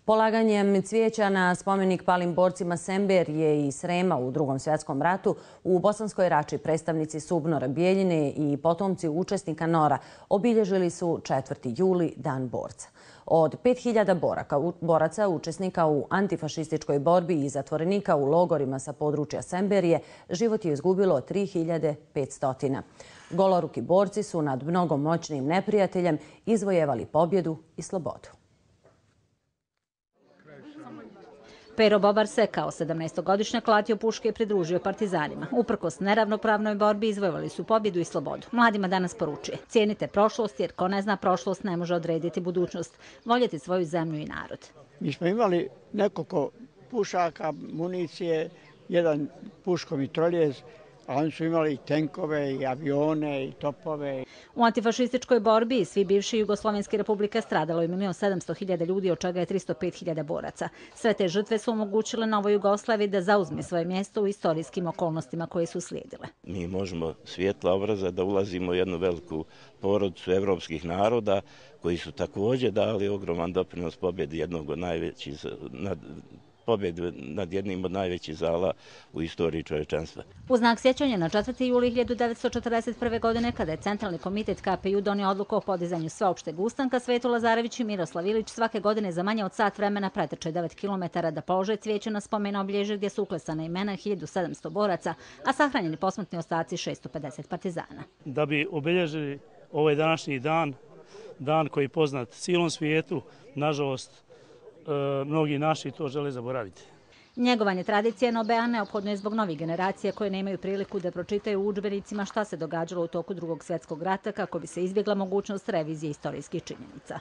Polaganjem cvijeća na spomenik palim borcima Semberije i Srema u Drugom svjetskom ratu u Bosanskoj Rači predstavnici SUBNOR-a Bijeljine i potomci učesnika NOR-a obilježili su 4. juli, Dan borca. Od 5000 boraca, učesnika u antifašističkoj borbi i zatvorenika u logorima sa područja Semberije, život je izgubilo 3500. Goloruki borci su nad mnogo moćnim neprijateljem izvojevali pobjedu i slobodu. Pero Bobar se kao 17-godišnjak latio puške i pridružio partizanima. Uprkos neravnopravnoj borbi izvojevali su pobjedu i slobodu. Mladima danas poručuje: cijenite prošlost jer ko ne zna prošlost ne može odrediti budućnost. Voljeti svoju zemlju i narod. Mi smo imali nekoliko pušaka, municije, jedan puško mitroljez, a oni su imali i tenkove, i avione, i topove. U antifašističkoj borbi svi bivši jugoslovenske republike stradalo je 1.700.000 ljudi, od čega je 305.000 boraca. Sve te žrtve su omogućile Novoj Jugoslaviji da zauzme svoje mjesto u istorijskim okolnostima koje su slijedile. Mi možemo svijetla obraza da ulazimo u jednu veliku porodicu evropskih naroda koji su također dali ogroman doprinos pobjedi jednog od najvećih pobjedu nad jednim od najvećih zala u istoriji čovječanstva. U znak sjećanja na 4. juli 1941. godine, kada je Centralni komitet KPJ donio odluku o podizanju sveopšteg ustanka, Sveto Lazarević i Miroslav Ilić svake godine za manje od sat vremena pretrče 9 kilometara da polože cvijeće na spomen obilježje gdje su uklesana imena 1700 boraca, a sahranjeni posmrtni ostaci 650 partizana. Da bi obilježili ovaj današnji dan, dan koji je poznat cijelom svijetu, nažalost, mnogi naši to žele zaboraviti. Njegovanje tradicije NOB-a neophodno je zbog novih generacija koje nemaju priliku da pročitaju u udžbenicima šta se događalo u toku Drugog svjetskog rata kako bi se izbjegla mogućnost revizije istorijskih činjenica.